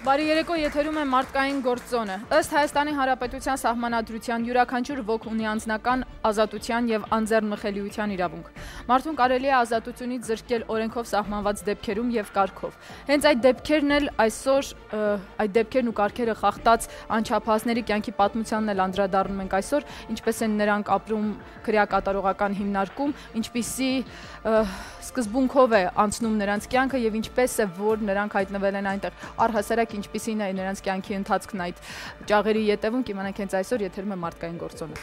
Բարի երեկո, եթերում է մարդկային գործոնը։ Ըստ Հայաստանի Հանրապետության Սահմանադրության յուրաքանչյուր ոք ունի անձնական ազատության եւ անձեռնմխելիության իրավունք։ Մարդուն կարելի է ազատությունից զրկել օրենքով սահմանված դեպքերում եւ կարգով։ Հենց այդ դեպքերն էլ այսօր այդ դեպքերն ու կարգերը խախտած անչափահասների կյանքի պատմությանն էլ անդրադառնում ենք այսօր, ինչպես են նրանք ապրում քրեակատարողական հիմնարկում, ինչպիսի սկզբունքով է անցնում նրանց կյանքը եւ ինչպես է որ նրանք հայտնվել են այնտեղ առհասարակ ինչպիսին է նրանց կյանքի ընթացքն այդ ճաղերի ետևում կիմանանք հենց այսօր եթերում է մարդկային գործոնը։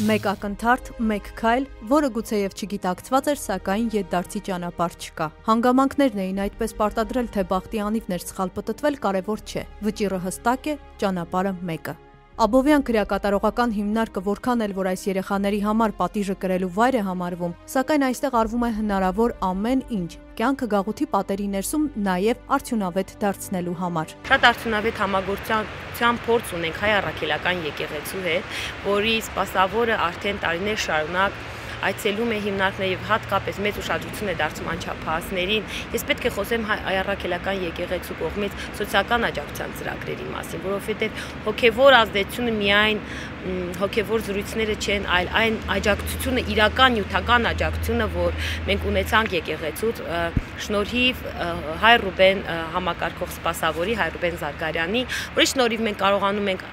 Մեկ ակնթարթ, մեկ քայլ, որը գուցեև չգիտակցված էր, սակայն ետդարձի ճանապարհ չկա։ Հանգամանքներն էին այդպես պարտադրել, թե բախտի անիվներ սխալ պտտվել կարևոր չէ։ Վճիռը հստակ է, ճանապարհը մեկը։ Աբովյան քրեակատարողական հիմնարկը որքան էլ որ այս երեխաների համար պատիժը կրելու վայր է համարվում, սակայն այստեղ արվում է հնարավոր ամեն ինչ կյանքը գաղութի պատերի ներսում նաև արդյունավետ դարձնելու համար։ Շատ արդյունավետ համագործակցության փորձ ունենք հայ առաքելական եկեղեցու հետ, որի սպասավորը արդեն տարիներ շարունակ այցելում է հիմնարկները եւ հատկապես մեծ ուշադրություն է դարձում անչափահասներին։ Ես պետք է խոսեմ հայ առաքելական եկեղեցու կողմից սոցիալական աջակցության ծրագրերի մասին, որովհետեւ հոգեվոր ազդեցությունը միայն հոգեվոր զրույցները չեն, այլ այն աջակցությունը, իրական նյութական աջակցությունը, որ մենք ունեցանք եկեղեցուց շնորհիվ Հայ Ռուբեն համակարգող սպասավորի Հայ Ռուբեն Զարգարյանի, որի շնորհիվ մենք կարողանում ենք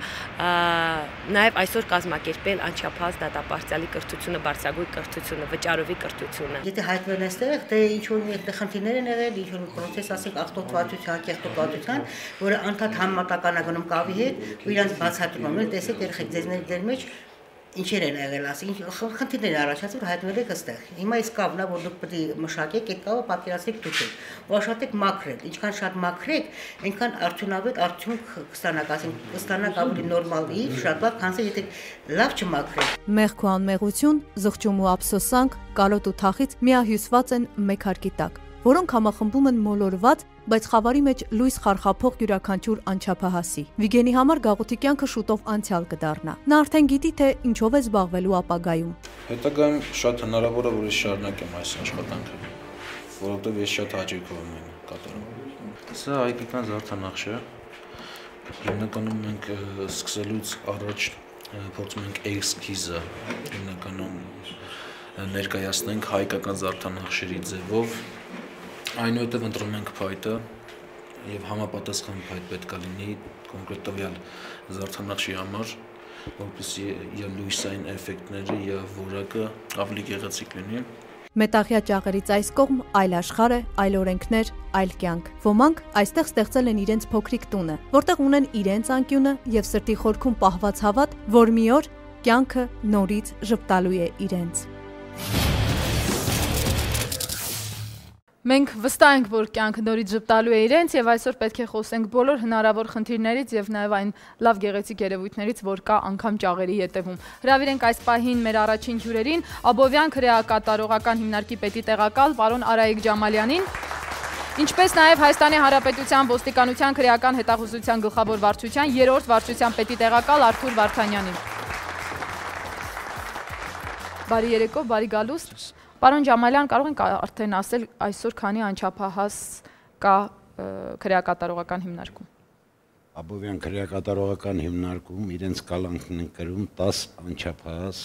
նաև այսօր կազմակերպել անչափահաս դատապարտյալի կրթությունը, բարձրագույն կրթությունը, վճարովի կրթությունը։ Եթե հայտնվել են այստեղ, թե ինչ որ այդտեղ խնդիրներ են եղել, ինչ որ պրոցես, ասենք աղտոտվածության, կեղտոտվածության, որը անդադ համատական է գնում կավի հետ, ու իրանց բացատրում են, տեսեք երեխեք ձեր մեջ ինչեր են եղել, ասենք խնդիրներ առաջացել, հայտնվել եք այստեղ։ Հիմա այս կավն է, որ դուք պետք է մշակեք, այդ կավը պատկերացրեք դուք ու աշխատեք մաքրել։ Ինչքան շատ մաքրեք, այնքան արդյունավետ արդյունք կստանաք, ասենք կստանաք ավելի նորմալ իր, շատ լավ, քան եթե լավ չմաքրեք։ Մեղք ու անմեղություն, զղջում ու ափսոսանք, կարոտ ու թախից միահյուսված են մեկ հարկի տակ, որոնք համախմբում են մոլորված, բայց խավարի մեջ լույս խարխափող յուրաքանչյուր անչափահասի։ Վիգենի համար գաղութի կյանքը շուտով անցյալ կդառնա։ Նա արդեն գիտի, թե ինչով է զբաղվելու ապագայում։ Հետագայում շատ հնարավոր է, որ ես շարունակեմ այս աշխատանքը, որովհետև ես շատ հաճույքով եմ կատարում։ Սա հայկական զարդանախշ է։ Հիմնականում մենք սկսելուց առաջ փորձում ենք էսքիզը հիմնականում ներկայացնենք հայկական զարդանախշերի ձևով, այնուհետև ընտրում ենք փայտը եւ համապատասխան փայտ պետք է լինի կոնկրետ տվյալ զարդանախշի համար, որպեսզի իր լույսային էֆեկտները եւ որակը ավելի գեղեցիկ լինի։ Մետաղյա ճաղերից այս կողմ այլ աշխարհ է, այլ օրենքներ, այլ կյանք։ Ոմանք այստեղ ստեղծել են իրենց փոքրիկ տունը, որտեղ ունեն իրենց անկյունը եւ սրտի խորքում պահված հավատ, որ մի օր կյանքը նորից ժպտալու է իրենց։ Մենք վստահ ենք, որ կյանքը նորից ժպտալու է իրենց եւ այսօր պետք է խոսենք բոլոր հնարավոր խնդիրներից եւ նաեւ այն լավ գեղեցիկ երևույթներից, որ կա անգամ ճաղերի ետևում։ Հրավիրենք այս պահին մեր առաջին հյուրերին, Աբովյան քրեակատարողական հիմնարկի պետի տեղակալ պարոն Արայիկ Ջամալյանին, ինչպես նաեւ Հայաստանի Հանրապետության ոստիկանության քրեական հետախուզության գլխավոր վարչության 3-րդ վարչության պետի տեղակալ Արթուր Վարդանյանին։ Բարի երեկո, բարի գալուստ։ Պարոն Ջամալյան, կարող ենք արդեն ասել այսօր քանի անչափահաս կա քրեակատարողական հիմնարկում։ Աբովյան քրեակատարողական հիմնարկում իրենց կալանքն են կրում 10 անչափահաս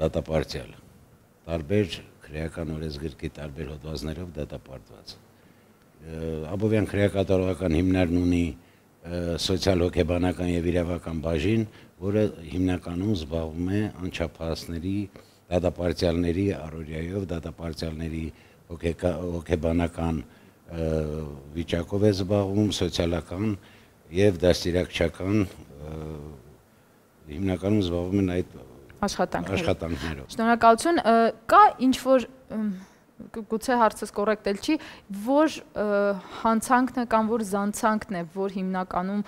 դատապարտյալ, տարբեր քրեական օրենսգրքի տարբեր հոդվածներով դատապարտված։ Աբովյան քրեակատարողական հիմնարկն ունի սոցիալ-հոգեբանական եւ իրավական բաժին, որը հիմնականում զբաղվում է անչափահասների դատապարտյալների առօրյայով, դատապարտյալների հոգեբանական վիճակով է զբաղվում, սոցիալական եւ դաստիարակչական հիմնականում զբաղվում են այդ աշխատանքներով։ Շնորհակալություն, կա ինչ որ գուցե հարցս կոռեկտ էլ չի, որ հանցանքն է կամ որ զանցանքն է, որ հիմնականում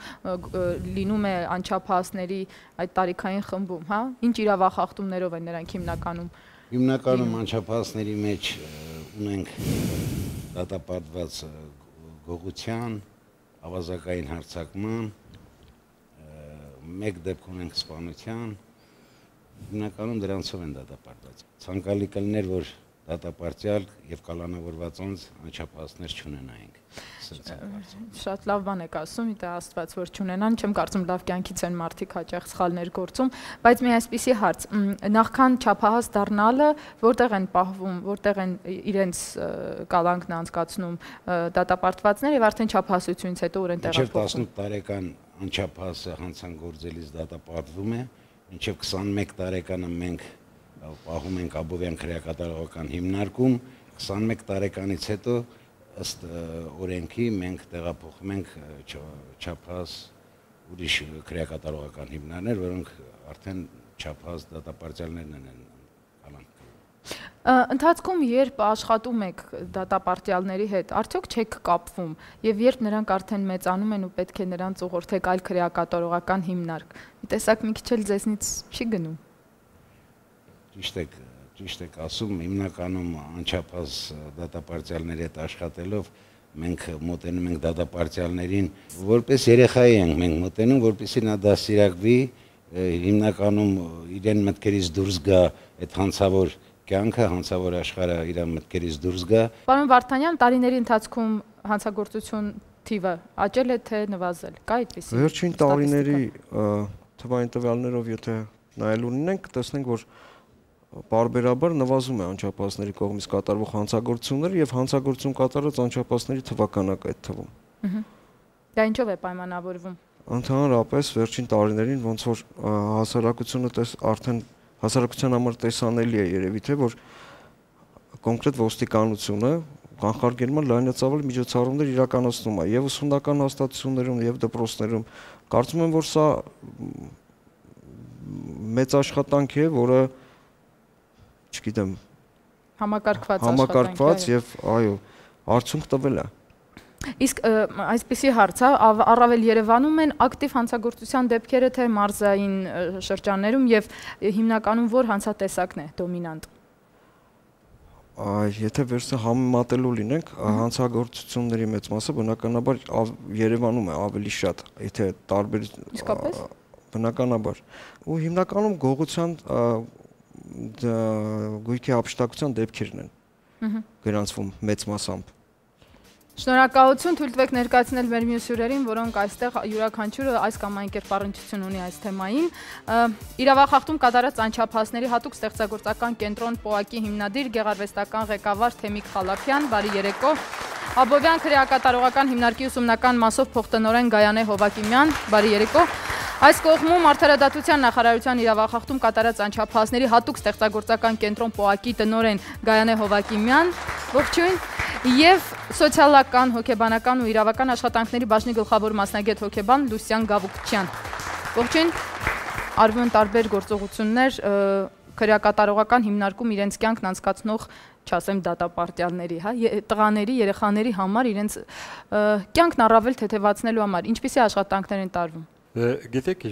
լինում է անչափահասների այդ տարիքային խմբում, հա? Ինչ իրավախախտումներով են նրանք հիմնականում։ Հիմնականում անչափահասների մեջ ունենք դատապարտված գողության, ավազակային հարձակման, մեկ դեպք ունենք սպանության, հիմնականում դրանցով են դատապարտված։ Ցանկալի կլիներ, որ դատապարտյալ եւ կալանավորված անչափահասներ չունենայինք։ Շատ լավ բան եք ասում, իդե Աստված որ չունենան, չեմ կարծում լավ կյանքից են մարդիկ հաճախ սխալներ գործում, բայց մի այսպիսի հարց, նախքան չափահաս դառնալը որտեղ են պահվում, որտեղ են իրենց կալանքն անցկացնում դատապարտվածները եւ արդեն չափահասությունից հետո որ են տեղափոխվում։ Մինչև 18 տարեկան անչափահասը հանցագործելիս դատապարտվում է, մինչև 21 տարեկանը մենք պահում ենք Աբովյան քրեակատարողական հիմնարկում, 21 տարեկանից հետո ըստ օրենքի մենք տեղափոխում ենք չափահաս ուրիշ քրեակատարողական հիմնարներ, որոնք արդեն չափահաս դատապարտյալներն են կալանք։ Ընթացքում երբ աշխատում եք դատապարտյալների հետ, արդյոք չեք կապվում եւ երբ նրանք արդեն մեծանում են ու պետք է նրանց ուղղորդեք այլ քրեակատարողական հիմնարկ, մի տեսակ մի քիչ էլ ձեզնից չի գնում։ Ճիշտ եք ասում, հիմնականում անչափահաս դատապարտյալների հետ աշխատելով մենք մոտենում ենք դատապարտյալներին, որպես երեխայի ենք մենք մոտենում, որպեսզի նա դաստիարակվի, հիմնականում իրեն մտքերից դուրս գա այդ հանցավոր կյանքը, հանցավոր աշխարհը իր մտքերից դուրս գա։ Պարոն Վարդանյան, տարիների ընթացքում հանցագործություն թիվը աճել է թե նվազել։ Կա այդպիսի։ Վերջին տարիների թվային տվյալներով եթե նայելու ունենք, տեսնենք, որ պարբերաբար նվազում է անչափահասների կողմից կատարվող հանցագործությունները եւ հանցագործություն կատարած անչափահասների թվականակը այդ թվում։ Դա ինչով է պայմանավորվում։ Ընդհանրապես վերջին տարիներին ոնց որ հասարակությունը արդեն հասարակության համար տեսանելի է երևի թե որ կոնկրետ ոստիկանությունը կանխարգելման լայնածավալ միջոցառումներ իրականացնում է եւ ուսումնական հաստատություններում եւ դպրոցներում։ Կարծում եմ, որ սա մեծ աշխատանք է, որը չգիտեմ համակարգված եւ այո արդյունք տվել է։ Իսկ այսպիսի հարց է, առավել Երևանում են ակտիվ հանցագործության դեպքերը թե մարզային շրջաններում եւ հիմնականում որ հանցատեսակն է դոմինանտ։ Եթե վերցնենք համեմատելու լինենք, հանցագործությունների մեծ մասը բնականաբար Երևանում է ավելի շատ, եթե տարբեր Իսկապես բնականաբար ու հիմնականում գողության գույքի հափշտակության դեպքերն են գրանցվում մեծ մասամբ։ Շնորհակալություն, թույլ տվեք ներկայացնել մեր մյուս հյուրերին, որոնք այստեղ յուրաքանչյուրը այս կամ այն կերպ առնչություն ունի այս թեմային։ Իրավախախտում կատարած անչափահասների հատուկ ստեղծագործական կենտրոն ՊՕԱԿ-ի հիմնադիր գեղարվեստական ղեկավար Թեմիկ Խալափյան, բարի երեկո։ Աբովյան քրեակատարողական հիմնարկի ուսումնական մասով փոխտնօրեն Գայանե Հովակիմյան, բարի երեկո։ Այս կողմում Արդարադատության նախարարության իրավախախտում կատարած անչափահասների հատուկ ստեղծագործական կենտրոն ՊՕԱԿ-ի տնօրեն Գայանե Հովակիմյան, ողջույն, եւ սոցիալական, հոգեբանական ու իրավական աշխատանքների բաժնի գլխավոր մասնագետ հոգեբան Լուսյան Գավուկչյան։ Ողջույն, արվում են տարբեր գործողություններ քրեակատարողական հիմնարկում իրենց կյանքն անցկացնող, չասեմ դատապարտյալների, հա, տղաների, երեխաների համար իրենց կյանքն առավել թեթևացնելու համար ինչպիսի աշխատանքներ են տարվում։ Գիտեք,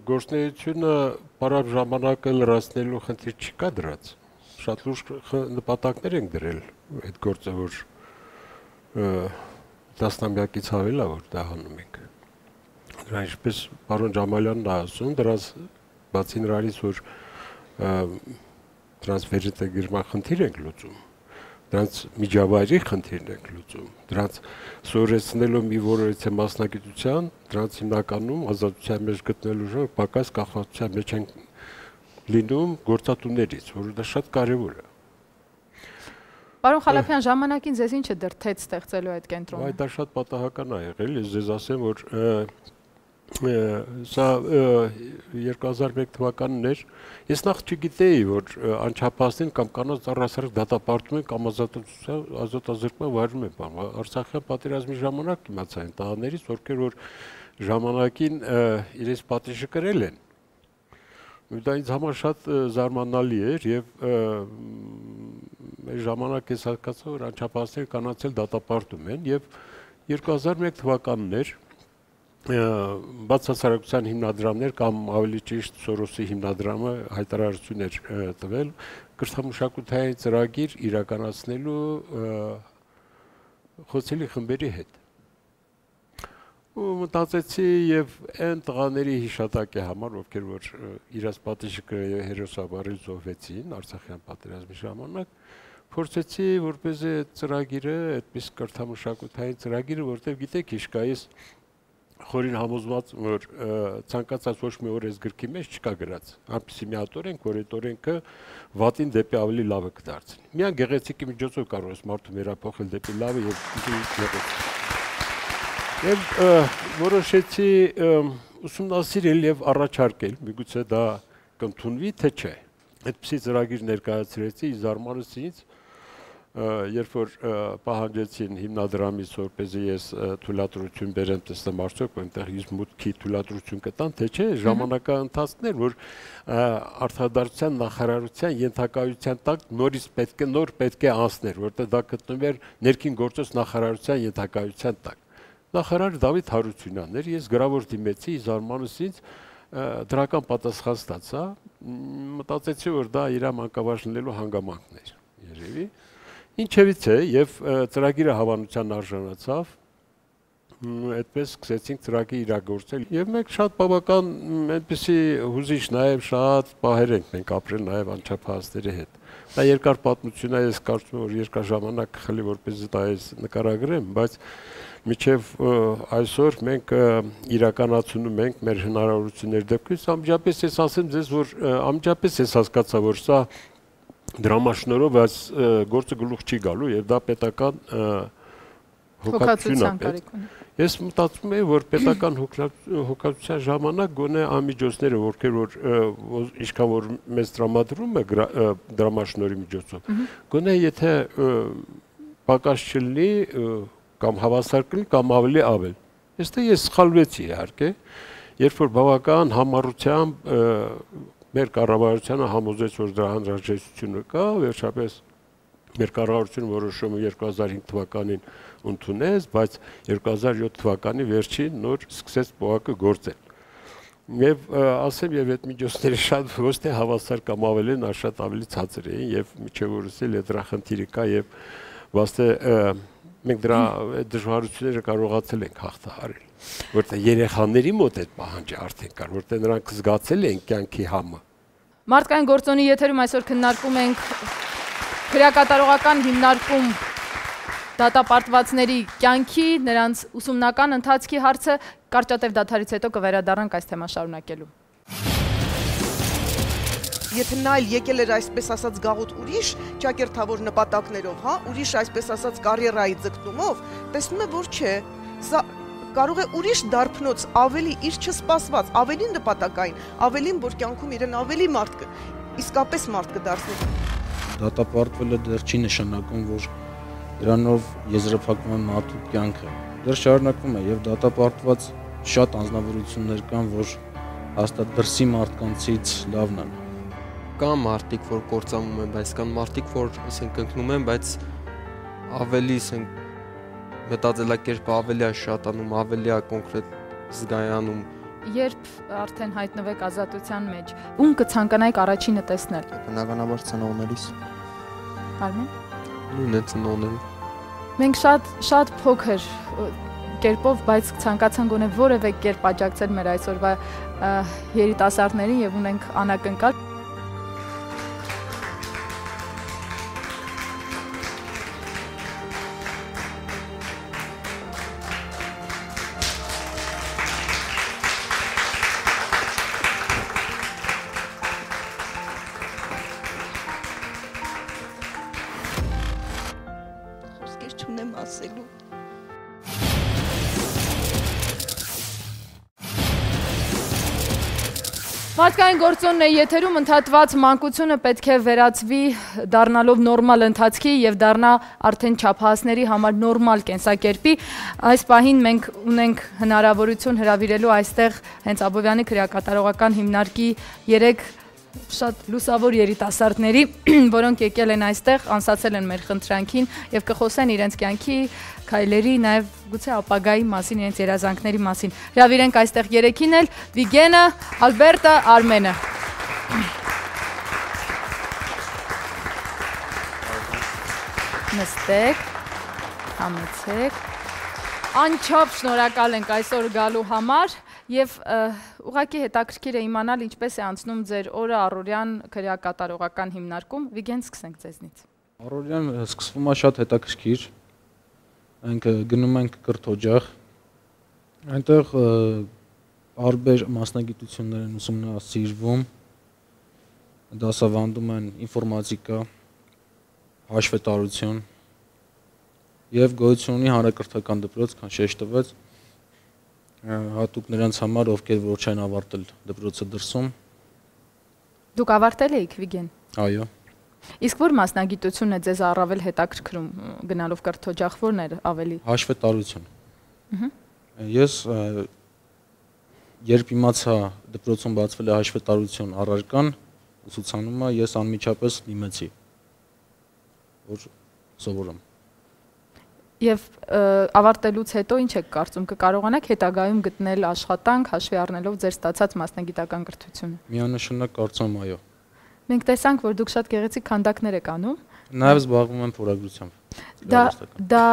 գործունեությունը բարակ ժամանակը լրացնելու խնդիր չկա դրած։ Շատ լուրջ նպատակներ ենք դրել այդ գործը, որ տասնամյակից ավել է, որ դա հանում ենք։ Դրա ինչպես պարոն Ջամալյանն է ասում, դրանց բացի նրանից, որ դրանց վերջնագրման խնդիր ենք լուծում, դրանց միջավայրի խնդիրն ենք լուծում, դրանց սովորեցնելով մի որոշ մասնագիտության, դրանց հիմնականում ազատության մեջ գտնելու ժամանակ պակաս կախվածության մեջ են լինում գործատուներից, որը դա շատ կարևոր է։ Պարոն Խալափյան, ժամանակին ձեզ ինչը դրդեց ստեղծելու այդ կենտրոնը։ Դա շատ պատահական է եղել, ես ձեզ ասեմ, որ սա 2001 թվականն էր, ես նախ չգիտեի, որ անչափահասներին կամ կանանց առհասարակ դատապարտում են կամ ազատազրկման վայրում են պահում։ Արցախյան պատերազմի ժամանակ իմացա այն տղաներից, ովքեր որ ժամանակին իրենց պատիժը կրել են։ Դա ինձ համար շատ զարմանալի էր եւ այս ժամանակ ես հասկացա, որ անչափահասները կանանց էլ դատապարտում են եւ 2001 թվականն էր բացասարակության հիմնադրամներ կամ ավելի ճիշտ Սորոսի հիմնադրամը հայտարարություն էր տվել կրթամշակութային ծրագիր իրականացնելու խոցելի խմբերի հետ։ ու մտածեցի եւ այն տղաների հիշատակի համար, ովքեր որ իրաց պատիժը հերոսաբարի զոհվեցին Արցախյան պատերազմի ժամանակ, փորձեցի որպեսզի այդ ծրագիրը, այդպես կրթամշակութային ծրագիրը, որտեղ գիտեք, իշկայից խորին համոզված, որ ցանկացած ոչ մի օր այս գրքի մեջ չկա գրած, այնպեսի մի հատ օրենք, որ այդ օրենքը վատին դեպի ավելի լավը կդարձնի։ Միան գեղեցիկի միջոցով կարող ես մարդու վերափոխել դեպի լավը եւ գեղեցիկ։ Եվ որոշեցի ուսումնասիրել եւ առաջարկել, միգուցե դա կընդունվի, թե չէ։ Այդպիսի ծրագիր ներկայացրեցի, զարմանալից ինձ, երբ որ պահանջեցին հիմնադրամից, որպեսզի ես թույլատրություն բերեմ, տեսնեմ արդյոք այնտեղ ինձ մուտքի թույլատրություն կտան, թե չէ, ժամանակահատվածն էր, որ արտադրության նախարարության ենթակայության տակ նորից պետք է անցներ, որտեղ դա գտնվում էր ներքին գործոց նախարարության ենթակայության տակ։ Նախարար Դավիթ Հարությունյանն էր, ես գրավոր դիմեցի, զարմանալից ինձ դրական պատասխան ստացա, մտածեցի, որ դա իր մանկավարժնելու հանգամանքն էր, երևի։ Ինչևից է, եւ ծրագիրը հավանության արժանացավ, այդպես սկսեցինք ծրագիր իրագործել եւ մենք շատ բավական այնպեսի հուզիչ նաեւ շատ պահեր ենք մենք ապրել նաեւ անչափահասների հետ։ Դա երկար պատմություն է, ես կարծում եմ, որ երկար ժամանակ խլի որպեսզի դա ես նկարագրեմ, բայց մինչև այսօր մենք իրականացնում ենք մեր հնարավորությունների դեպքից, անմիջապես ես ասեմ ձեզ, որ անմիջապես ես հասկացա, որ սա դրամաշնորհով այս գործը գլուխ չի գալու եւ դա պետական հոգացություն է։ Ես մտածում եմ, որ պետական հոգացության ժամանակ գոնե ամիջոցները, որքեր որ ինչքան որ մեծ տրամադրում է դրամաշնորհի միջոցով, գոնե եթե պակաս չլինի կամ հավասար կլինի կամ ավելի ավել։ Այստեղ ես սխալվեցի իհարկե, երբ որ բավական համառությամբ մեր կառավարությունը համոզեց, որ դրա անհրաժեշտությունը կա, վերջապես մեր կառավարությունը որոշումը 2005 թվականին ընդունեց, բայց 2007 թվականի վերջին նոր սկսեց պողակը գործել։ Եվ ասեմ, եւ այդ միջոցները շատ ոչ թե հավասար կամ ավելին, այլ շատ ավելի ցածր էին եւ միջև օրս էլ դրա խնդիրը կա եւ վաստե մենք դրա դժվարությունները կարողացել ենք հաղթահարել, որտեղ երեխաների մոտ այդ պահանջը արդեն կար, որտեղ նրանք զգացել են կյանքի համը։ Մարդկային գործոնի եթերում այսօր քննարկում ենք քրեակատարողական հիմնարկում դատապարտվածների կյանքի, նրանց ուսումնական ընթացքի հարցը, կարճատև դադարից հետո կվերադառնանք այս թեման շարունակելու։ Եթե նա էլ եկել էր այսպես ասած գաղութ ուրիշ ճակերտավոր նպատակներով, հա, ուրիշ այսպես ասած կարիերայի ձգտումով, տեսնում է, որ չէ, սա կարող է ուրիշ դարբնոց ավելի իր չսպասված, ավելի նպատակային, ավելին, որ կյանքում իրեն ավելի մարդ իսկապես մարդ կդարձնի։ Դատապարտվելը դեռ չի նշանակում, որ դրանով եզրափակվում է մարդու կյանքը։ Դեռ շարունակվում է եւ դատապարտված շատ անձնավորություններ կան, որ հաստատ դրսի մարդկանցից լավն են։ Կան մարդիկ, որ կործանում են, բայց կան մարդիկ, որ ասենք ընկնում են, բայց ավելի ասենք մտածելակերպը ավելի է շատանում, ավելի է կոնկրետ զգայանում։ Երբ արդեն հայտնվեք ազատության մեջ, ում կցանկանայիք առաջինը տեսնել։ Բնականաբար ծնողներիս։ Արմեն։ Նույնն է ծնողների։ Մենք շատ փոքր կերպով, բայց ցանկացան գոնե որևէ կերպ աջակցել մեր այսօրվա երիտասարդներին եւ ունենք անակնկալ։ Մարդկային գործոնն է եթերում, ընդհատված մանկությունը պետք է վերածվի դառնալով նորմալ ընթացքի եւ դառնա արդեն չափահասների համար նորմալ կենսակերպի։ Այս պահին մենք ունենք հնարավորություն հրավիրելու այստեղ հենց Աբովյանի քրեակատարողական հիմնարկի 3 շատ լուսավոր երիտասարդների, որոնք եկել են այստեղ, անսացել են մեր խնդրանքին եւ կխոսեն իրենց կյանքի քայլերի, նաեւ գուցե ապագայի մասին, իրենց երազանքների մասին։ Հրավիրենք այստեղ 3-ին էլ՝ Վիգենը, Ալբերտը, Արմենը։ Նստեք, համեցեք։ Անչափ շնորհակալ ենք այսօր գալու համար եւ ուղղակի հետաքրքիր է իմանալ ինչպես է անցնում ձեր օրը առօրյան քրեակատարողական հիմնարկում։ Վիգեն, սկսենք ձեզնից։ Առօրյան սկսվում է շատ հետաքրքիր։ Մենք գնում ենք կրթօջախ։ Այնտեղ տարբեր մասնագիտություններ են ուսումնասիրվում։ Դասավանդում են ինֆորմատիկա, հաշվետարություն եւ գոյություն ունի հանրակրթական դպրոց, քան շեշտվեց հատուկ նրանց համար, ովքեր որ չեն ավարտել դպրոցը դրսում։ Դուք ավարտել եք, Վիգեն։ Այո։ Իսկ որ մասնագիտությունն է ձեզ առավել հետաքրքրում գնալով կրթօջախ, որն էր ավելի։ Հաշվետարություն։ Ես երբ իմացա դպրոցում բացվել է հաշվետարություն առարկան, ուսուցանումը, ես անմիջապես դիմեցի, որ սովորեմ։ Եվ ավարտելուց հետո ինչ եք կարծում, կկարողանաք հետագայում գտնել աշխատանք հաշվի առնելով ձեր ստացած մասնագիտական կրթությունը։ Միանշանակ կարծում այո։ Մենք տեսանք, որ դուք շատ գեղեցիկ քանդակներ եք անում։ Նաև զբաղվում եմ փորագրությամբ։ Դա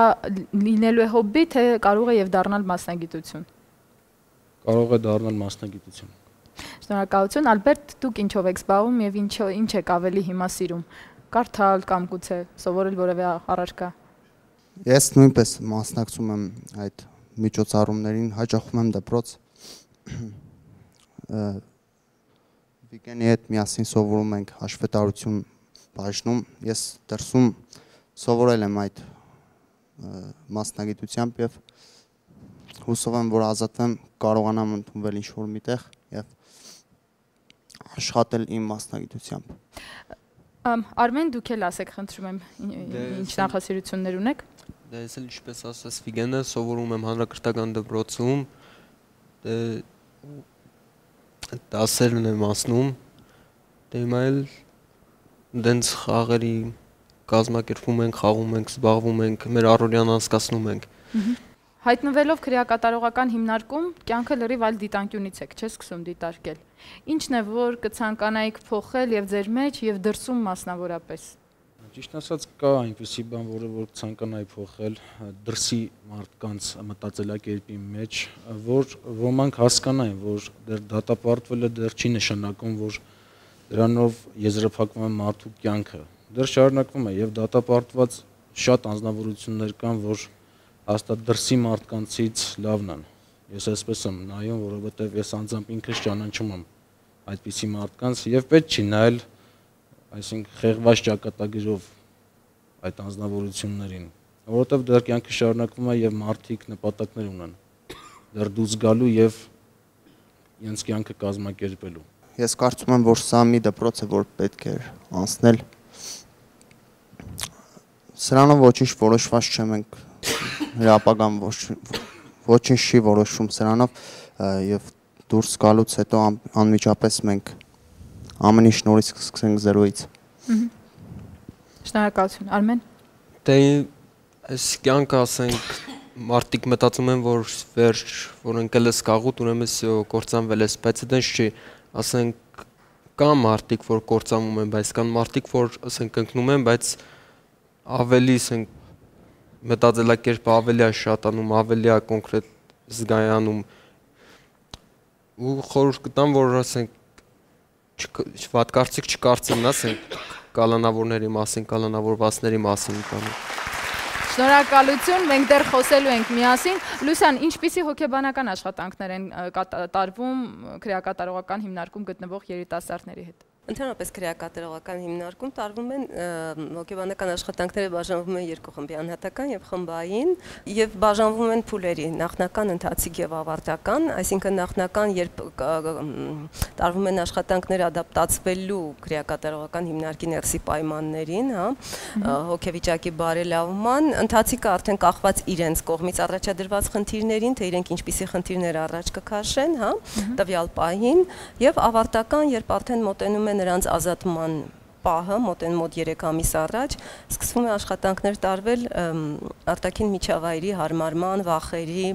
լինելու է հոբբի, թե կարող է եւ դառնալ մասնագիտություն։ Կարող է դառնալ մասնագիտություն։ Շնորհակալություն, Ալբերտ, դուք ինչով եք զբաղվում եւ ինչ եք ավելի հիմա սիրում։ Կարդալ կամ գուցե սովորել որևէ առարկա։ Ես նույնպես մասնակցում եմ այդ միջոցառումներին, հաճախում եմ դպրոց։ Վիգենի հետ միասին սովորում ենք հաշվետարություն բաժնում։ Ես դրսում սովորել եմ այդ մասնագիտությամբ եւ հուսով եմ, որ ազատվեմ, կարողանամ ընդունվել ինչ-որ միտեղ եւ աշխատել իմ մասնագիտությամբ։ Արմեն, դուք էլ ասեք, խնդրում եմ, ինչ նախասիրություններ ունեք։ Դե ես էլ ինչպես ասաց Վիգենը, սովորում եմ հանրակրթական դպրոցում, դասերն եմ անցնում, դե հիմա էլ դենց խաղերի կազմակերպվում ենք, խաղում ենք, զբաղվում ենք, մեր առօրյան անցկացնում ենք։ Հայտնվելով քրեակատարողական հիմնարկում, կյանքը լրիվ այլ դիտանկյունից եք, չէ՞ սկսում դիտարկել։ Ինչն է, որ կցանկանայիք փոխել եւ ձեր մեջ եւ դրսում մասնավորապես։ Ճիշտ ասած, կա այնպիսի բան, որը որ ցանկանայի փոխել դրսի մարդկանց մտածելակերպի մեջ, որ ոմանք հասկանային, որ դեռ դատապարտվելը դեռ չի նշանակում, որ դրանով եզրափակվում է մարդու կյանքը։ Դեռ շարունակվում է եւ դատապարտված շատ անձնավորություններ կան, որ հաստատ դրսի մարդկանցից լավն են։ Ես այսպես եմ նայում, որովհետև ես անձամբ ինքս ճանաչում եմ այդպիսի մարդկանց եւ պետք չի նայել, այսինքն խեղված ճակատագրով այդ անձնավորություններին, որովհետև դեռ կյանքը շարունակվում է եւ մարդիկ նպատակներ ունեն դեռ դուրս գալու եւ իրենց կյանքը կազմակերպելու։ Ես կարծում եմ, որ սա մի դպրոց է, որ պետք է անցնել։ Սրանով ոչինչ որոշված չէ, մենք հրապագան ոչինչ չի որոշվում սրանով եւ դուրս գալուց հետո անմիջապես մենք ամեն ինչ նորից սկսենք զերոյից։ Շնորհակալություն, Արմեն։ Դե այս կյանքը ասենք մարդիկ մտածում են, որ վերջ, որ ընկել ես կաղուտ, ուրեմն կործանվել ես, բայց դա չի, ասենք կա մարդիկ, որ կործանվում են, բայց կան մարդիկ, որ ասենք ընկնում են, բայց ավելի ասենք մտածելակերպը ավելի է շատանում, ավելի է կոնկրետ զգայանում ու խորհուրդ կտամ, որ ասենք վատ կարծիք չկարծեն, ասենք կալանավորների մասին, կալանավորվածների մասին կանում։ Շնորհակալություն, մենք դեռ խոսելու ենք միասին։ Լուսյան, ինչպիսի հոգեբանական աշխատանքներ են կատարվում քրեակատարողական հիմնարկում գտնվող երիտասարդների հետ։ Ընդհանրապես քրեակատարողական հիմնարկում տարվում են հոգեբանական աշխատանքները բաժանվում են երկու խմբի, անհատական եւ խմբային, եւ բաժանվում են փուլերի, նախնական, ընթացիկ եւ ավարտական, այսինքն նախնական, երբ տարվում են աշխատանքներ ադապտացվելու քրեակատարողական հիմնարկի ներսի պայմաններին, հա, հոգեվիճակի բարելավման, ընթացիկը արդեն կախված իրենց կողմից առաջադրված խնդիրներին, թե իրենք ինչպիսի խնդիրներ առաջ կքաշեն, հա, տվյալ պահին, եւ ավարտական, երբ արդեն մոտենում նրանց ազատման պահը, մոտ 3 ամիս առաջ, սկսվում է աշխատանքներ տարվել արտաքին միջավայրի հարմարման, վախերի,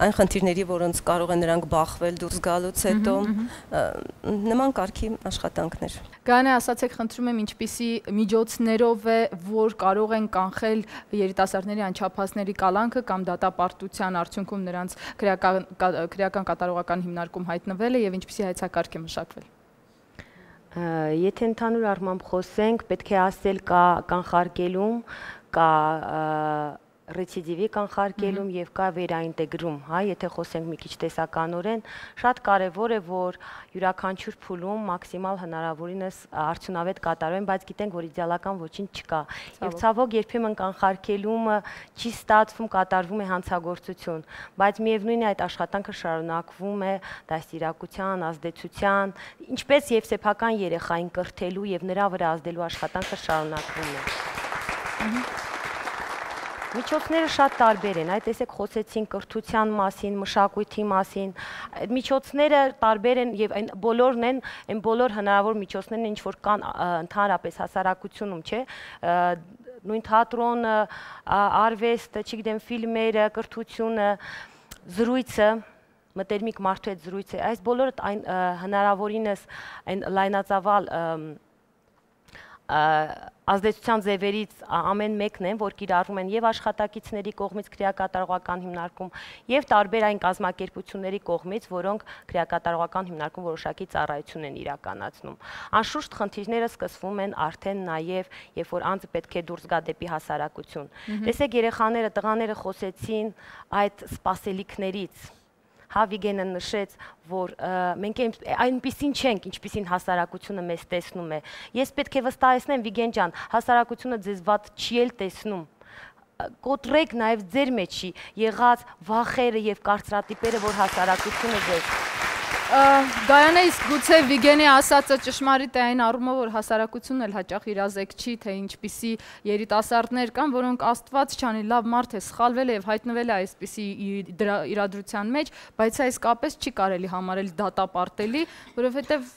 այն խնդիրների, որոնց կարող են նրանք բախվել դուրս գալուց հետո, նման կարգի աշխատանքներ։ Գայանե, ասացեք, խնդրում եմ, ինչպիսի միջոցներով է, որ կարող են կանխել երիտասարդների անչափահասների կալանքը կամ դատապարտության արդյունքում նրանց քրեական կատարողական հիմնարկում հայտնվելը եւ ինչպիսի հայեցակարգ է մշակվել։ Եթե ընդհանուր առմամբ խոսենք, պետք է ասել կա կանխարգելում, կա ռեցիդիվի կանխարգելում եւ կա վերաինտեգրում, հա, եթե խոսենք մի քիչ տեսականորեն, շատ կարեւոր է, որ յուրաքանչյուր փուլում մաքսիմալ հնարավորինս արդյունավետ կատարվեն, բայց գիտենք, որ իդեալական ոչինչ չկա։ Եվ ցավոք երբեմն կանխարգելումը չի ստացվում, կատարվում է հանցագործություն, բայց միևնույն է այդ աշխատանքը շարունակվում է դաստիարակության, ազդեցության, ինչպես եւ սեփական երեխային կրթելու եւ նրա վրա ազդելու աշխատանքը շարունակվում է։ Միջոցները շատ տարբեր են, այդ տեսեք խոսեցին կրթության մասին, մշակույթի մասին, միջոցները տարբեր են եւ այն բոլորն են, այն բոլոր հնարավոր միջոցներն ինչ որ կան ընդհանրապես հասարակությունում, չէ՞, նույն թատրոնը, արվեստը, չգիտեմ, ֆիլմերը, կրթությունը, զրույցը, մտերմիկ մարդու հետ զրույցը, այս բոլորը այն հնարավորինս այն լայնածավալ ազդեցության ձևերից ամեն մեկն են, որ կիրառվում են եւ աշխատակիցների կողմից քրեակատարողական հիմնարկում եւ տարբեր այն կազմակերպությունների կողմից, որոնք քրեակատարողական հիմնարկում որոշակի ծառայություն են իրականացնում։ Անշուշտ խնդիրները սկսվում են արդեն նաեւ, երբ որ անձը պետք է դուրս գա դեպի հասարակություն։ Տեսեք, երեխաները, տղաները խոսեցին այդ սպասելիքներից։ Հա, Վիգենը նշեց, որ մենք այնպիսին չենք, ինչպիսին հասարակությունը մեզ տեսնում է։ Ես պետք է վստահեցնեմ, Վիգեն ջան, հասարակությունը ձեզ վատ չի էլ տեսնում։ Կոտրեք նաև ձեր մեջի եղած վախերը եւ կարծրատիպերը, որ հասարակությունը ձեզ։ Գայանե, իսկ գուցե Վիգենի ասածը ճշմարիտ է այն առումով, որ հասարակությունն էլ հաճախ իրազեկ չի, թե ինչպիսի երիտասարդներ կան, որոնք աստված չանի, լավ մարդ է, սխալվել է եւ հայտնվել է այսպիսի իրադրության մեջ, բայց այս կապես չի կարելի համարել դատապարտելի, որովհետեւ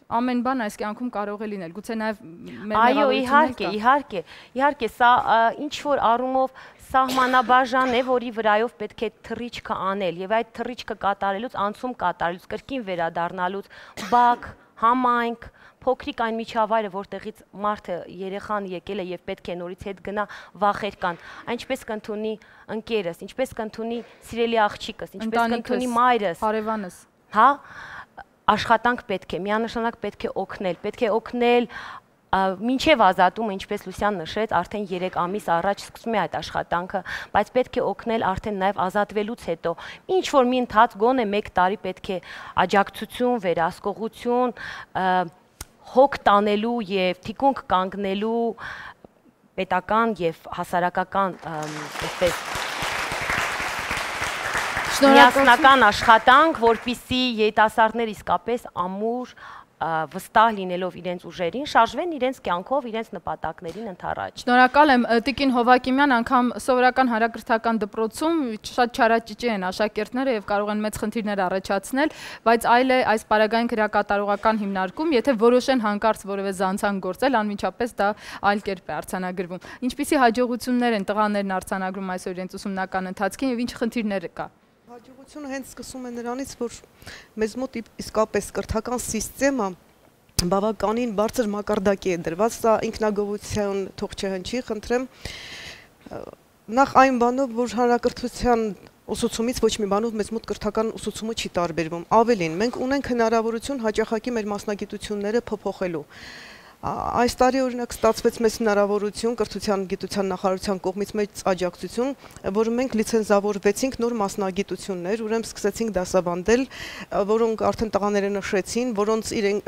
ամեն բան այս կյանքում կարող է լինել, գուցե նաև մեր մեղավորությունները։ Իհարկե, սա ինչ որ առումով սահմանաբաժան է, որի վրայով պետք է թռիչքը անել եւ այդ թռիչքը կատարելուց, անցում կատարելուց, կրկին վերադառնալուց, բակ, համայնք, փոքրիկ այն միջավայրը, որտեղից մարդը երեխան եկել է եւ պետք է նորից հետ գնա, վախեր կան, ինչպես կընդունի ընկերս, ինչպես կընդունի սիրելի աղջիկս, ինչպես կընդունի մայրս, հարևանս, հա, աշխատանք պետք է, միանշանակ պետք է օգնել մինչև ազատումը, ինչպես Լուսյան նշեց, արդեն 3 ամիս առաջ սկսում է այդ աշխատանքը, բայց պետք է օգնել արդեն նաև ազատվելուց հետո։ Ինչ որ մի ընթաց գոնե 1 տարի պետք է աջակցություն, վերահսկողություն, հոգ տանելու եւ թիկունք կանգնելու պետական եւ հասարակական այսպես միասնական աշխատանք, որպիսի երիտասարդներ իսկապես ամուր վստահ լինելով իրենց ուժերին, շարժվեն իրենց կյանքով, իրենց նպատակներին ընդառաջ։ Շնորհակալ եմ, Տիկին Հովակիմյան, անգամ սովորական հանրակրթական դպրոցում շատ չարաճճի են աշակերտները եւ կարող են մեծ խնդիրներ առաջացնել, բայց այլ է այս պարագային քրեակատարողական հիմնարկում, եթե որոշեն հանկարծ որևէ զանցանք գործել, անմիջապես դա այլ կերպ է արձանագրվում։ Ինչպիսի հաջողություններ են տղաներն արձանագրում այսօր իրենց ուսումնական ընթացքին եւ ինչ խնդիրներ կա։ Հաջողությունը հենց սկսում է նրանից, որ մեզ մոտ իսկապես կրթական սիստեմը բավականին բարձր մակարդակի է դրված, սա ինքնագովության թող չհնչի, խնդրեմ, նախ այն բանով, որ հանրակրթության ուսուցումից ոչ մի բանով մեզ մոտ կրթական ուսուցումը չի տարբերվում, ավելին, մենք ունենք հնարավորություն հաճախակի մեր մասնագիտությունները փոփոխելու։ Այս տարի օրինակ ստացվեց մեծ հնարավորություն կրթության գիտության նախարարության կողմից մեծ աջակցություն, որը մենք լիցենզավորվեցինք նոր մասնագիտություններ, ուրեմն սկսեցինք դասավանդել, որոնք արդեն տղաները նշեցին,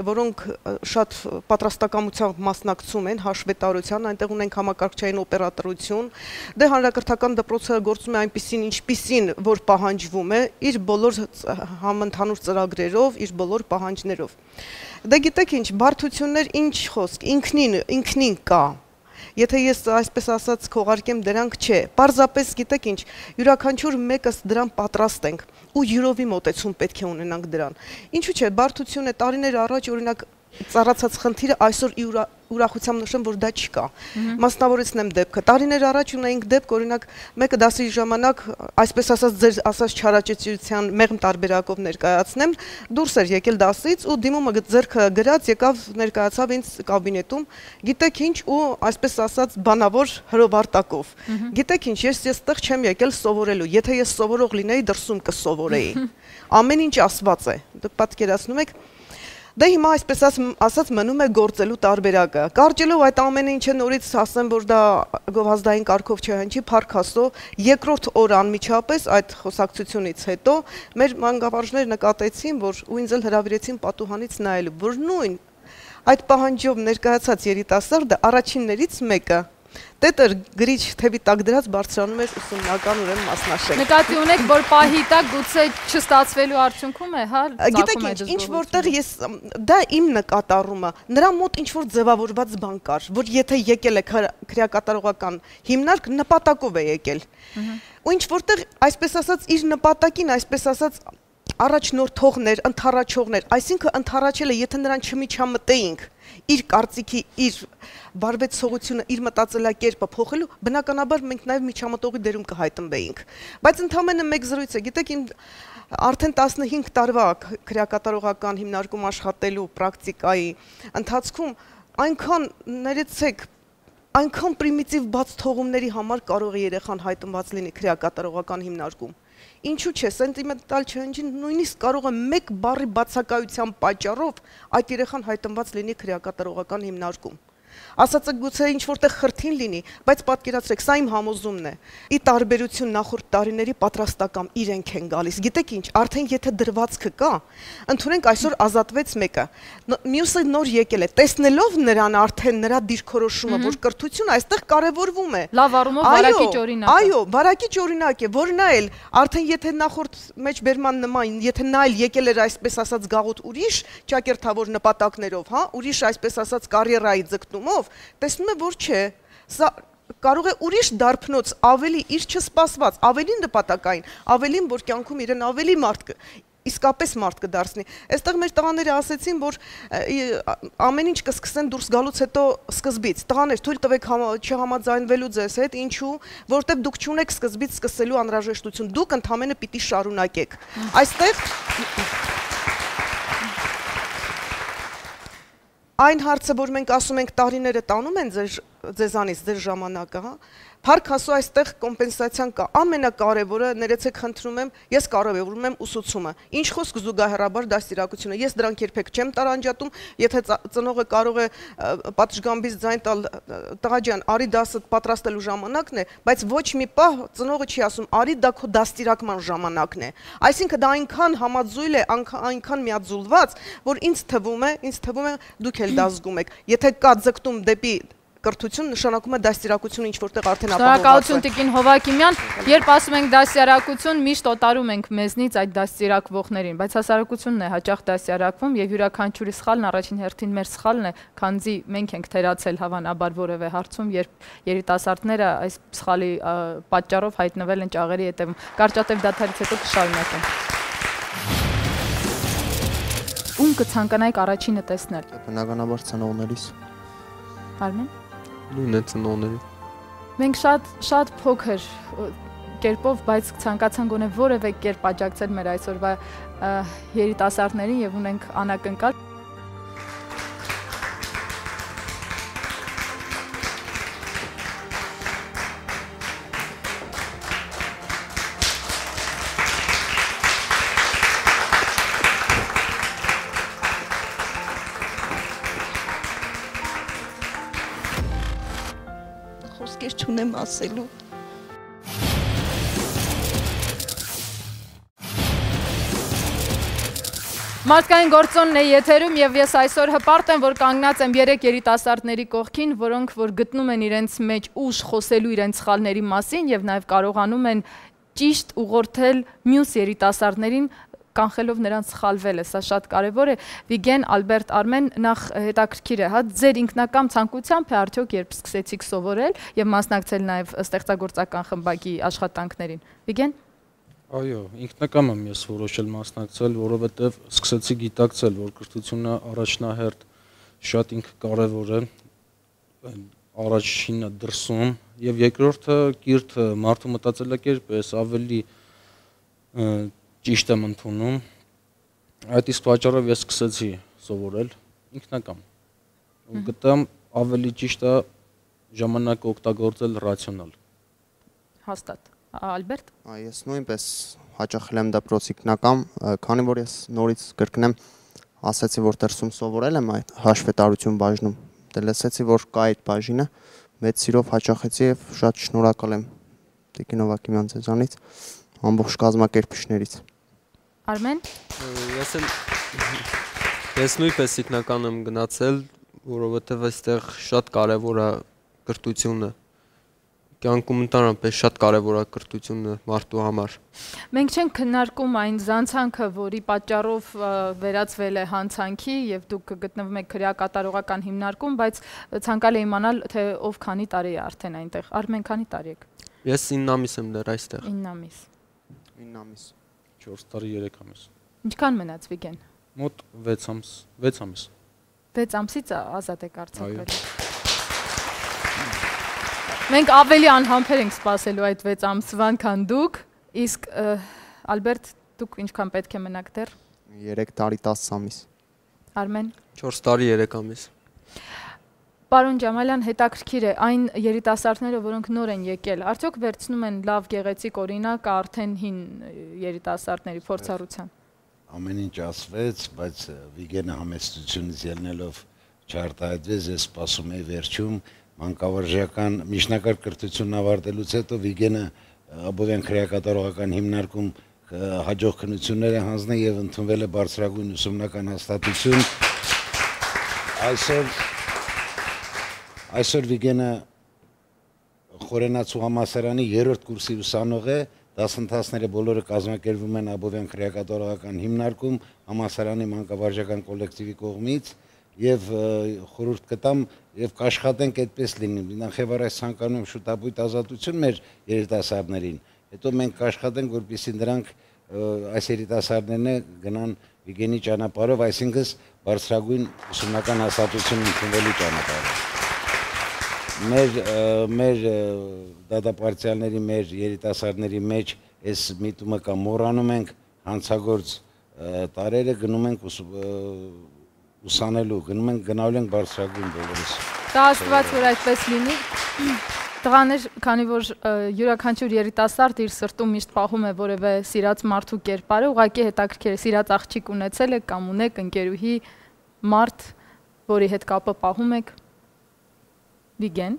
որոնք շատ պատրաստակամությամբ մասնակցում են հաշվետարության, այնտեղ ունենք համակարգչային օպերատորություն, դե հանրակրթական դպրոցը գործում է այնպիսին, ինչպիսին, որ պահանջվում է, իր բոլոր համընդհանուր ծրագրերով, իր բոլոր պահանջներով։ Դե գիտեք ինչ, բարդություններ ինչ խոսք, ինքնին կա, եթե ես այսպես ասած քողարկեմ դրանք չէ, պարզապես գիտեք ինչ, յուրաքանչյուր մեկս դրան պատրաստ ենք ու յուրովի մոտեցում պետք է ունենանք դրան։ Ինչու՞ չէ, բարդություն է տարիներ առաջ օրինակ ծառացած խնդիրը այսօր ուրախությամբ նշեմ, որ դա չկա։ Մասնավորեցնեմ դեպքը։ Տարիներ առաջ ունեինք դեպք, օրինակ, մեկը դասի ժամանակ, այսպես ասած, ձեր ասած չարաճճիության մեղմ տարբերակով ներկայացնեմ, դուրս էր եկել դասից ու դիմումը ձեռքը գրած եկավ ներկայացավ ինձ կաբինետում, գիտեք ինչ, ու այսպես ասած բանավոր հրովարտակով։ Գիտեք ինչ, ես այստեղ չեմ եկել սովորելու, եթե ես սովորող լինեի, դրսում կսովորեի։ Ամեն ինչ ասված է։ Դուք պատկերացնում եք։ Դե հիմա այսպես ասած մնում է գործելու տարբերակը։ Կարճելով այդ ամենը ինչը նորից ասեմ, որ դա գովազդային կարգով չհնչի, փառք Աստծո, երկրորդ օր անմիջապես այդ խոսակցությունից հետո մեր մանկավարժները նկատեցին, որ ու ինձ էլ հրավիրեցին պատուհանից նայելու, որ նույն այդ պահանջով ներկայացած երիտասարդը առաջիններից մեկը Տետր գրիչ թևի տակ դրած բարձրանում էր ուսումնական ուրեմն մասնաշենք։ Նկատի ունեք, որ պահի տակ գուցե չստացվելու արդյունքում է, հա, գիտեք ինչ որտեղ ես դա իմ նկատառումը, նրա մոտ ինչ որ ձևավորված բան կար, որ եթե եկել է քրեակատարողական հիմնարկ նպատակով է եկել։ Ու ինչ որտեղ այսպես ասած իր նպատակին, այսպես ասած առաջնորդողներ, ընթառաջողներ, այսինքն ընթառաջելը, եթե նրան չմիջամտեինք իր կարծիքի, իր բարվեցողությունը, իր մտածելակերպը փոխելու, բնականաբար մենք նաև միջամտողի դերում կհայտնվեինք։ Բայց ընդհանրապես մեկ զրույց է, գիտեք, արդեն 15 տարվա քրեակատարողական հիմնարկում աշխատելու պրակտիկայի ընթացքում այնքան ներեցեք այնքան պրիմիտիվ բաց թողումների համար կարող է երեխան հայտնված լինի քրեակատարողական հիմնարկում։ Ինչու՞ չէ, սենտիմենտալ չհնչի, նույնիսկ կարող է մեկ բառի բացակայության պատճառով այդ երեխան հայտնված լինի քրեակատարողական հիմնարկում։ Ասածը գուցե ինչ որտեղ խրթին լինի, բայց պատկերացրեք, սա իմ համոզումն է։ Ի տարբերություն նախորդ տարիների պատրաստական իրենք են գալիս։ Գիտեք ինչ, արդեն եթե դրվածքը կա, ընդունենք այսօր ազատվեց մեկը։ Մյուսը նոր եկել է, տեսնելով նրան արդեն նրա դիրքորոշումը, որ կրթությունը այստեղ կարևորվում է։ Լավ առումով վարակիչ օրինակ է։ Այո, վարակիչ օրինակ է, որ նա էլ արդեն եթե նախորդ մեջբերման նման, եթե նա էլ եկել էր այսպես ասած գաղութ ուրիշ ճակերտավոր նպատակներով, հա, ուրիշ այսպես ասած կարիերայի ձգտումով, տեսնում է, որ չէ, սա կարող է ուրիշ դարբնոց ավելի իր չսպասված, ավելի նպատակային, ավելին, որ կյանքում իրեն ավելի իսկապես մարդ կդարձնի։ Այստեղ մեր տղաները ասեցին, որ ամեն ինչ կսկսեն դուրս գալուց հետո սկզբից։ Տղաներ, թույլ տվեք չհամաձայնվելու ձեզ հետ, ինչու, որովհետև դուք չունեք սկզբից սկսելու անհրաժեշտություն, դուք ընդհանրապես պիտի շարունակեք։ Այստեղ այն հարցը, որ մենք ասում ենք տարիները տանում են ձեզանից, ձեր ժամանակը, հա, Փառք Աստծո, այստեղ կոմպենսացիան կա։ Ամենակարևորը, ներեցեք խնդրում եմ, ես կարևորում եմ ուսուցումը։ Ինչ խոսք զուգահեռաբար դաստիարակությունը։ Ես դրանք երբեք չեմ տարանջատում, եթե ծնողը կարող է պատշգամբից ձայն տալ, տղա ջան, արի դասը պատրաստելու ժամանակն է, բայց ոչ մի պահ ծնողը չի ասում, արի դա քո դաստիարակման ժամանակն է։ Այսինքն դա այնքան համաձուլ է, այնքան միաձուլված, որ ինձ թվում է դուք էլ դա զգում եք։ Եթե կա ձգտում դեպի կրթություն, նշանակում է դաստիարակությունը ինչ որտեղ արդեն ապահովված է։ Շնորհակալություն Տիկին Հովակիմյան, երբ ասում ենք դաստիարակություն, միշտ օտարում ենք մեզնից այդ դաստիարակվողներին, բայց հասարակությունն է հաճախ դաստիարակվում եւ յուրաքանչյուրի սխալն առաջին հերթին մեր սխալն է, քանզի մենք ենք թերացել հավանաբար որևէ հարցում, երբ երիտասարդները այս սխալի պատճառով հայտնվել են ճաղերի հետևում։ Կարճատև դադարից հետո կշարունակենք։ Ում կցանկանայիք առաջինը տեսնել։ Բնականաբար ծնողներիս։ Արմեն։ Նույնն է ծնողների։ Մենք շատ փոքր կերպով, բայց ցանկացան գոնե որևէ կերպ աջակցել մեր այսօրվա երիտասարդներին եւ ունենք անակնկալ։ Խոսքեր չունեմ ասելու։ Մարդկային գործոնն է եթերում եւ ես այսօր հպարտ եմ, որ կանգնած եմ 3 երիտասարդների կողքին, որոնք որ գտնում են իրենց մեջ ուժ խոսելու իրենց սխալների մասին եւ նաեւ կարողանում են ճիշտ ուղղորդել մյուս երիտասարդներին կանխելով նրանց սխալվելը, սա շատ կարևոր է։ Վիգեն, Ալբերտ, Արմեն, նախ հետաքրքիր է, հա, ձեր ինքնական ցանկությամբ է արդյոք երբ սկսեցիք սովորել եւ մասնակցել նաեւ ստեղծագործական խմբակի աշխատանքներին։ Վիգեն։ Այո, ինքնական եմ ես որոշել մասնակցել, որովհետեւ սկսեցի գիտակցել, որ կրթությունը առաջնահերթ շատ ինքը կարևոր է առաջինը դրսում եւ երկրորդը կիրթ մարդու մտածելակերպ էս ավելի ճիշտ եմ ընդունում այդ իսկ պատճառով ես սկսեցի սովորել ինքնակամ ու գտամ ավելի ճիշտ է ժամանակը օգտագործել ռացիոնալ հաստատ Ալբերտ Ես նույնպես հաճախել եմ դպրոցի քննական քանի որ ես նորից կրկնեմ ասացի որ դրսում սովորել եմ այդ հաշվետարություն բաժնում դե լսեցի որ կա այդ բաժինը մեծ սիրով հաճախեցի եւ շատ շնորհակալ եմ Տիկին Հովակիմյան ձեզանից ամբողջ կազմակերպիչներից Արմեն Ես նույնպես ինքնական եմ գնացել որովհետեւ այստեղ շատ կարեւոր է կրթությունը կյանքում ընդհանրապես շատ կարևոր է կրթությունը մարդու համար։ Մենք չենք քննարկում այն զանցանքը, որի պատճառով վերածվել է հանցանքի եւ դուք գտնվում եք քրեակատարողական հիմնարկում, բայց ցանկալի իմանալ թե ով քանի տարի է արդեն այնտեղ։ Արմեն քանի տարի եք։ Ես 9 ամիս եմ դեռ այստեղ։ 9 ամիս։ 9 ամիս։ 4 տարի 3 ամիս։ Ինչքան մնաց Վիգեն։ Մոտ 6 ամիս, 6 ամիս։ 6 ամսից ազատ եք արձակվել։ Մենք ավելի անհամբեր ենք սպասելու այդ 6 ամսվան, քան դուք, իսկ Ալբերտ, դուք ինչքան պետք է մնաք դեռ։ 3 տարի 10 ամիս։ Արմեն 4 տարի 3 ամիս։ Պարոն Ջամալյան, հետաքրքիր է այն երիտասարդները, որոնք նոր են եկել, արդյոք վերցնում են լավ գեղեցիկ օրինակ արդեն հին երիտասարդների փորձառության։ Ամեն ինչ ասվեց, բայց Վիգենը համեստությունից ելնելով չարտահայտվեց, ես սպասում եի վերջում մանկավարժական միջնակարգ կրթությունն ավարտելուց հետո Վիգենը Աբովյան քրեակատարողական հիմնարկում հաջող քննություններ է հանձնել եւ ընդունվել է բարձրագույն ուսումնական հաստատություն։ Այսօր Վիգենը Խորենացու համալսարանի 3-րդ կուրսի ուսանող է, դասընթացները բոլորը կազմակերպվում են Աբովյան քրեակատարողական հիմնարկում համալսարանի մանկավարժական կոլեկտիվի կողմից եւ խորհուրդ կտամ եւ կաշխատենք այդպես լինի։ Նախևառաջ ցանկանում եմ շուտապույտ ազատություն մեր երիտասարդներին։ Հետո մենք կաշխատենք, որպեսզի նրանք այս երիտասարդներն գնան Վիգենի ճանապարհով, այսինքն բարձրագույն ուսումնական հաստատություն ընդունվելու ճանապարհով։ Մեր դատապարտյալների, մեր երիտասարդների մեջ այս միտումը կա, մոռանում ենք հանցագործ տարերը, գնում ենք ուսանելու, գնալու ենք բարձրագույն բոլորս։ Դա աստված որ այդպես լինի։ Տղաներ, քանի որ յուրաքանչյուր երիտասարդ իր սրտում միշտ պահում է որևէ սիրած մարդու կերպարը, ուղղակի հետաքրքիր է սիրած աղջիկ ունեցել եք կամ ունեք ընկերուհի մարդ, որի հետ կապը պահում եք։ Վիգեն։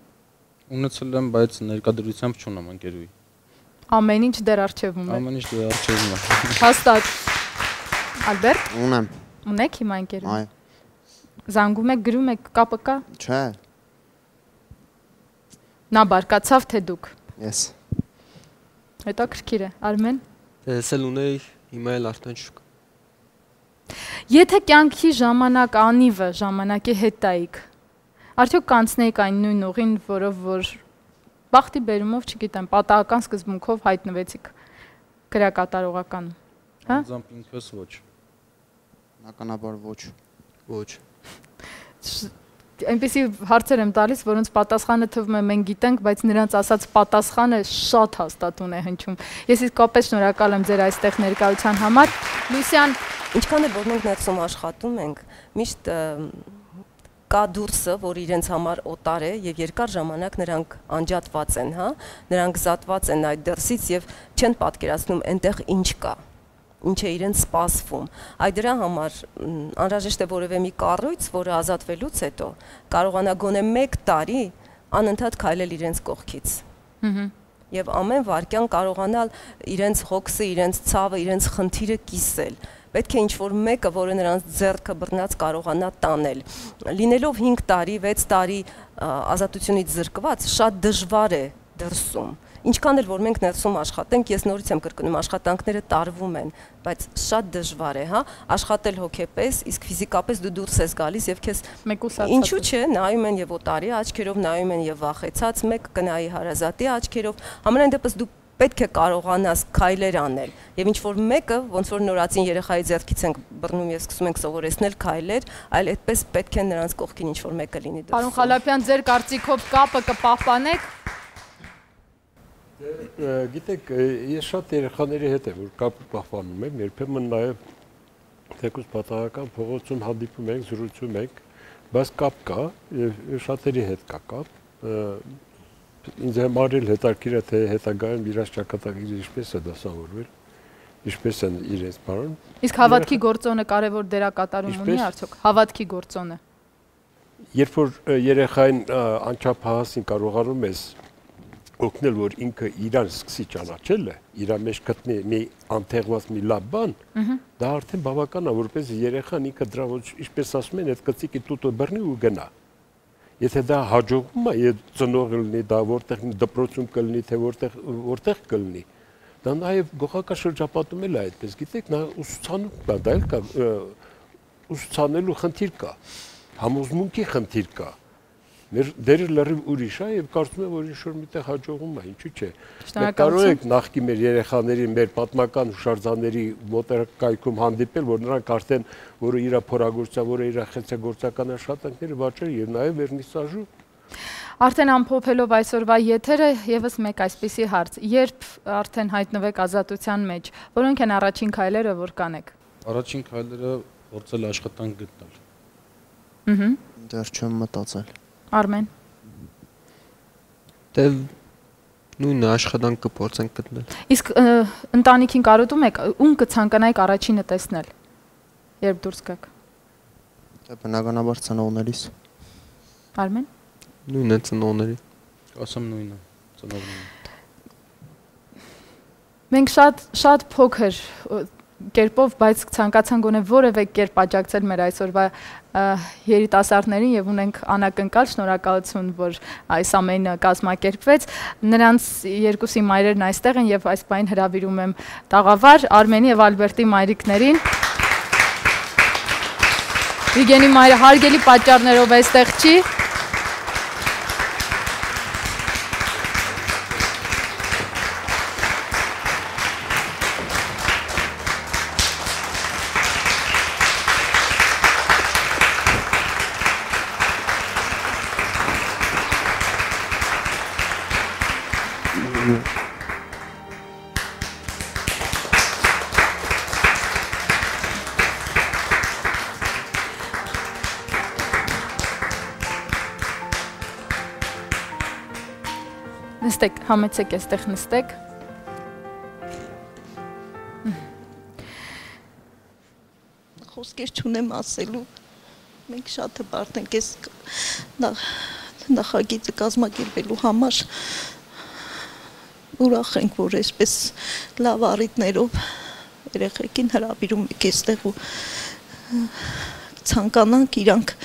Ունեցել եմ, բայց ներկայդրությամբ չունեմ ընկերուհի։ Ամեն ինչ դեռ առջևում է։ Ամեն ինչ դեռ առջևում է։ Հաստատ։ Ալբերտ։ Ունեմ։ Ունեք հիմա ընկերուհի։ Այո։ Զանգում եք, գրում եք, կապը կա։ Չէ։ Նա բարկացավ թե դուք։ Ես։ Հետաքրքիր է, Արմեն։ Ես էլ ունեի, հիմա էլ արդեն չկա։ Եթե կյանքի ժամանակ անիվը ժամանակի հետ տայիք, արդյոք կանցնեիք այն նույն ուղին, որով որ բախտի բերումով, չգիտեմ, պատահական սկզբունքով հայտնվեցիք քրեակատարողականում, հա? Անձամբ ինքս ոչ։ Բնականաբար ոչ։ Ոչ։ Այնպիսի հարցեր եմ տալիս, որոնց պատասխանը թվում է մենք գիտենք, բայց նրանց ասած պատասխանը շատ հաստատուն է հնչում։ Ես իսկապես շնորհակալ եմ ձեր այստեղ ներկայության համար։ Լուսյան, ինչքան էլ որ մենք ներսում աշխատում ենք, միշտ կա դուրսը, որ իրենց համար օտար է եւ երկար ժամանակ նրանք անջատված են, հա, նրանք զատված են այդ դրսից եւ չեն պատկերացնում այնտեղ ինչ կա, ինչ է իրենց սպասվում։ Այդ դրա համար անհրաժեշտ է որևէ մի կառույց, որը ազատվելուց հետո կարողանա գոնե 1 տարի անընդհատ քայլել իրենց կողքից։ Եվ ամեն վարքյան կարողանալ իրենց հոգսը, իրենց ցավը, իրենց խնդիրը կիսել։ Պետք է ինչ-որ մեկը, որը նրանց ձեռքը բռնած կարողանա տանել։ Լինելով 5 տարի, 6 տարի ազատությունից զրկված, շատ դժվար է դրսում։ Ինչքան էլ որ մենք ներսում աշխատենք, ես նորից եմ կրկնում, աշխատանքները տարվում են, բայց շատ դժվար է, հա, աշխատել հոգեպես, իսկ ֆիզիկապես դու դուրս ես գալիս եւ քեզ ինչու՞ չէ, նայում են եւ օտարի աչքերով, նայում են եւ վախեցած, մեկ կնայի հարազատի աչքերով, ամենայն դեպս դու պետք է կարողանաս քայլեր անել եւ ինչ որ մեկը ոնց որ նորածին երեխայի ձեռքից ենք բռնում եւ սկսում ենք սովորեցնել քայլեր, այլ այդպես պետք է նրանց կողքին ինչ որ մեկը լինի։ Պարոն Խալափյան, ձեր կարծիքով կապը կպահպանեք։ Գիտեք, ես շատ երեխաների հետ եմ որ կապը պահպանում եմ, երբեմն նաեւ թեկուզ պատահական փողոցում հանդիպում ենք, զրուցում ենք, բայց կապ կա եւ շատերի հետ կա կապ։ Ինձ համար էլ հետաքրքիր է թե հետագայում իրաց ճակատագիրը ինչպես է դասավորվել, ինչպես են իրենց բան։ Իսկ հավատքի գործոնը կարևոր դերակատարում ունի արդյոք։ Հավատքի գործոնը։ Երբ որ երեխային անչափահասին կարողանում ես օգնել, որ ինքը իրան սկսի ճանաչել է, իր մեջ գտնի մի անթեղված մի լավ բան, դա արդեն բավական է, որպես երեխան ինքը դրա ինչպես ասում են, այդ կծիկի տուտը բռնի ու գնա։ Եթե դա հաջողվում է, եթե ծնողը լինի, դա որտեղ դպրոցում կլինի, թե որտեղ կլինի, դա նաև գոհական շրջապատում էլ է այդպես, գիտեք, նա ուսուցանում կա, դա էլ կա, ուսուցանելու խնդիր կա, համոզմունքի խնդիր կա, մեր դերը լրիվ ուրիշ է եւ կարծում եմ, որ ինչ-որ միտեղ հաջողում է, ինչու՞ չէ։ Մենք կարող ենք նախկին մեր երեխաների, մեր պատմական հուշարձանների մոտակայքում հանդիպել, որ նրանք արդեն, որը իր փորագործության, որը իր խեցեգործական աշխատանքները վաճառել եւ նաեւ վերնիսաժու։ Արդեն ամփոփելով այսօրվա եթերը եւս մեկ այսպիսի հարց. երբ արդեն հայտնվեք ազատության մեջ, որոնք են առաջին քայլերը, որ կանեք։ Առաջին քայլերը փորձել աշխատանք գտնել։ Դեռ չեմ մտածել։ Արմեն։ Դե նույնը աշխատանք կփորձենք գտնել։ Իսկ ընտանիքին կարոտում եք, ում կցանկանայիք առաջինը տեսնել, երբ դուրս գաք։ Դե բնականաբար ծնողներիս։ Արմեն։ Նույնը ծնողների։ Ասեմ նույնը, ծնողների։ Մենք շատ փոքր կերպով, բայց ցանկացան գոնե որևէ կերպ աջակցել մեր այսօրվա երիտասարդներին եւ ունենք անակնկալ շնորհակալություն, որ այս ամենը կազմակերպվեց։ Նրանց երկուսի մայրերն այստեղ են եւ այս բան հրավիրում եմ տաղավար Արմենի եւ Ալբերտի մայրիկներին։ Վիգենի մայրը հարգելի պատճառներով այստեղ չի։ Նստեք, համեցեք այստեղ նստեք։ Խոսքեր չունեմ ասելու։ Մենք շատ հպարտ ենք այս նախագիծը կազմակերպելու համար։ Ուրախ ենք, որ այսպես լավ առիթներով երեխեքին հրավիրում եք այստեղ ու ցանկանանք իրանք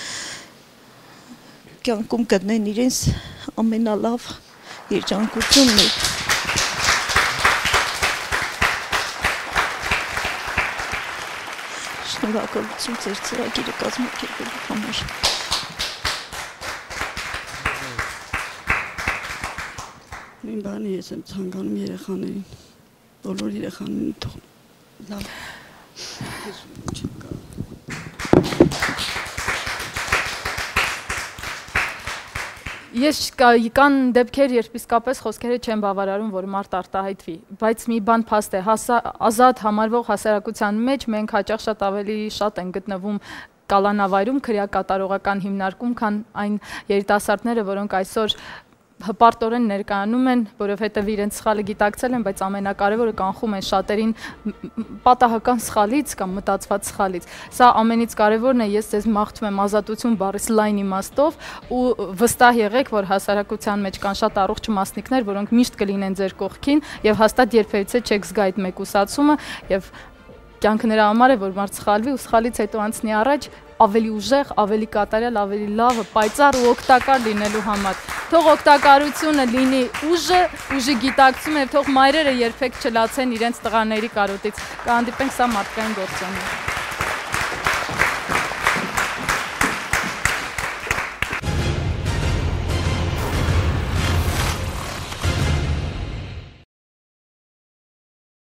կյանքում գտնեն իրենց ամենալավ երջանկությունն է։ Շնորհակալություն ձեր ծրագիրը կազմակերպելու համար։ Նույն բանի ես եմ ցանկանում երեխաներին, բոլոր երեխաներին թող լավ Ես կան դեպքեր, երբ իսկապես խոսքերը չեն բավարարում, որ մարդ արտահայտվի, բայց մի բան փաստ է, ազատ համարվող հասարակության մեջ մենք հաճախ շատ ավելի շատ են գտնվում կալանավայրում քրեակատարողական հիմնարկում, քան այն երիտասարդները, որոնք այսօր հպարտորեն ներկայանում են, որովհետև իրենց սխալը գիտակցել են, բայց ամենակարևորը կանխում են շատերին պատահական սխալից կամ մտածված սխալից։ Սա ամենից կարևորն է, ես ձեզ մաղթում եմ ազատություն բառից լայն իմաստով ու վստահ եղեք, որ հասարակության մեջ կան շատ առողջ մասնիկներ, որոնք միշտ կլինեն ձեր կողքին եւ հաստատ երբևիցե չեք զգա այդ մեկուսացումը եւ կյանքը նրա համար է, որ մարդ սխալվի ու սխալից հետո անցնի առաջ ավելի ուժեղ, ավելի կատարյալ, ավելի լավ, պայծառ ու օգտակար լինելու համար։ Թող օգտակարությունը լինի ուժի գիտակցումը եւ թող մայրերը երբեք չլացեն իրենց տղաների կարոտից։ Կհանդիպենք սա մարդկային գործոն է։